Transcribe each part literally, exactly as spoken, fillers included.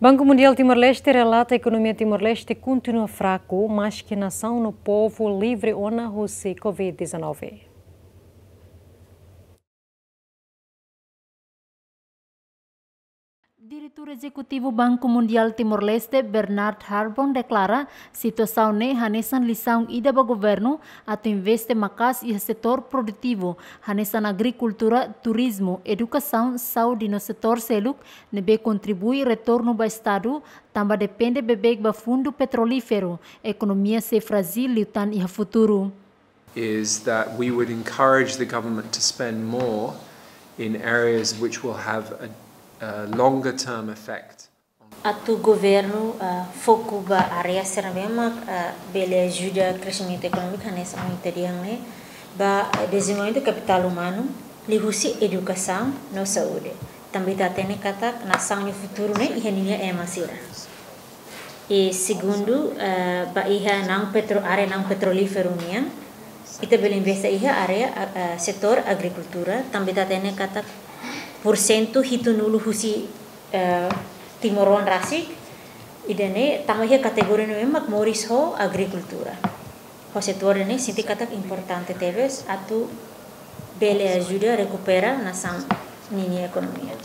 Banku Mundiál Timor-Leste relata ekonomia Timor-Leste kontinua fraku, maske nasaun no povu livre ona husi covid dezanove. Diretór Ezekutivu Banku Mundiál Timor-Leste, Bernard Harbon, deklara situasaun ne'e hanesan lisaun ida ba governu atu investe maka'as iha setór produtivu, hanesan agrikultura, turizmu, edukasaun, saúde no setór seluk ne'ebé kontribui retornu ba Estadu, tanba depende beibeik ba fundu petrolíferu, ekonomia sei frájil liután iha futuru. Is that we would encourage the government to spend more in areas which will have a, a longer term effect. Atu governu, ah, foku ba área sira ne'ebé mak, ah, bele ajuda kreximentu ekonómiku, hanesan ohin ita dehan ne'e, ba, eh, dezenvolvimentu kapitál umanu, liuhusi edukasaun no saúde. Tanba ita hatene katak nasaun nia futuru ne'e iha ninia ema sira. I segundu, eh, ba iha naun petro-, área naun petrolíferu nian, ita bele investe iha área, eh, setór agrikultura, tanba ita hatene katak porsentu hitunulu husi, eh, timoroan rasik, ida-ne'e tama iha kategoria ne'ebé mak moris ho agrikultura. Ho setór ne'e sente katak importante tebes atu bele ajuda rekupera nasaun ninia ekonomia.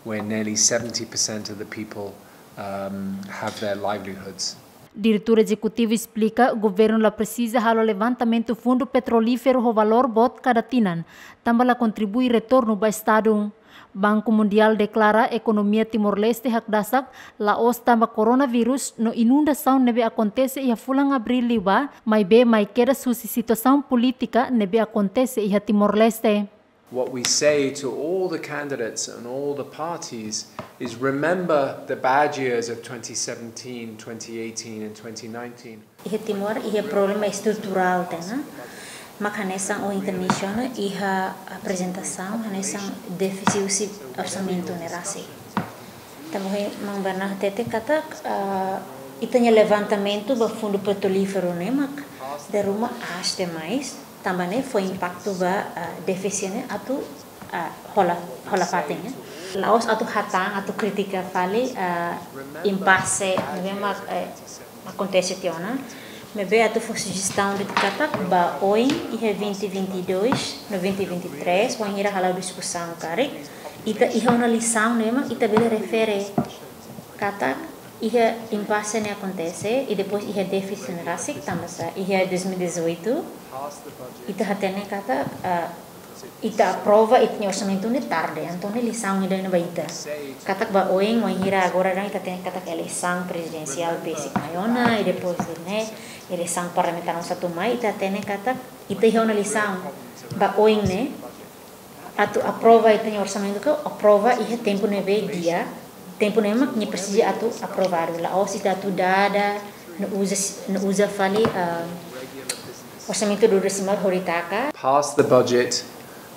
Where nearly seventy percent of the people, um, have their livelihoods. Diretór Ezekutivu esplika, governu la presiza halo levantamentu fundu petrolíferu ho valór boot kada tinan, tanba la kontribui retornu ba Estadu. Banku Mundiál deklara ekonomia Timor-Leste hakdasak, la'ós tanba koronavírus no inundasaun ne'ebé akontese iha fulan Abríl liubá, maibé mai kedas husi situasaun polítika ne'ebé akontese iha Timor-Leste. What we say to all the candidates and all the parties is remember the bad years of twenty seventeen, twenty eighteen and twenty nineteen. Iha Timor, iha problema estruturál tiha ona. Mak hanesan ohin ita mensiona iha aprezentasaun, hanesan défisit husi orsamentu ne'e rasik. Tanba ohin Maun Bernard hatete katak, ah, ita-nia levantamentu ba fundu petrolíferu ne'e mak dala ruma aas demais. Tanba ne'e fó impaktu ba, ah, défisit ne'e atu, ah, hola, hola fatin, eh. La'ós atu hatán, atu kritika fali, ah, impase ne'ebé mak, eh, akontese tiha ona. Maibé atu fó sujestaun de'it katak ba oin iha vinte vinte e dois no vinte vinte e três, wainhira hala'o diskusaun karik, ita iha ona lisaun ne'ebé mak ita bele refere katak iha impase ne'e akontese, i depois iha défisit ne'e rasik, tanba sá iha dois mil e dezoito, ita hatene katak, ah, ita aprova ita-nia orsamentu ne'e tarde, entaun ne'e lisaun ida ne'e ba ita. Katak ba oin, wainhira agora daudaun ita hatene katak eleisaun prezidensiál besik mai ona, i depois de ne'e, eleisaun parlamentár oinsá atu mai, ita hatene katak ita iha ona lisaun ba oin ne'e, atu aprova ita-nia orsamentu ka aprova iha tempu ne'ebé di'ak, tempu ne'ebé mak nia presiza atu aprovadu. La'ós ita atu dada, no uza, no uza fali, ah, orsamentu duodesimal hori taka. Pass the budget,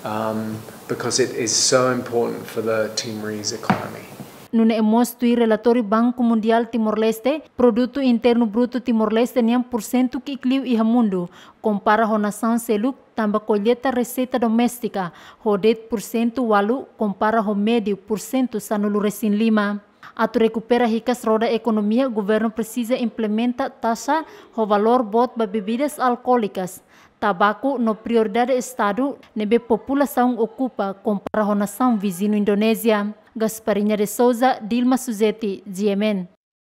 um, because it is so important for the Timorese economy. Nune'e mós tuir relatóriu Banku Mundiál Timor-Leste, Produtu Internu Brutu Timor-Leste nian porsentu ki'ik liu iha mundu, kompara ho nasaun seluk, tanba kolleta reseita doméstika ho de'it porsentu ualu, kompara ho médiu porsentu sanulu-resin-lima. Atu rekupera hikas roda ekonomia, governu presiza implementa taxa ho valór boot ba bebidas alkoólikas, tabaku no prioridade Estadu ne'ebé populasaun okupa, kompara ho nasaun viziñu Indonézia. Gasparinha de Souza, Dilma Suzeti, G M N.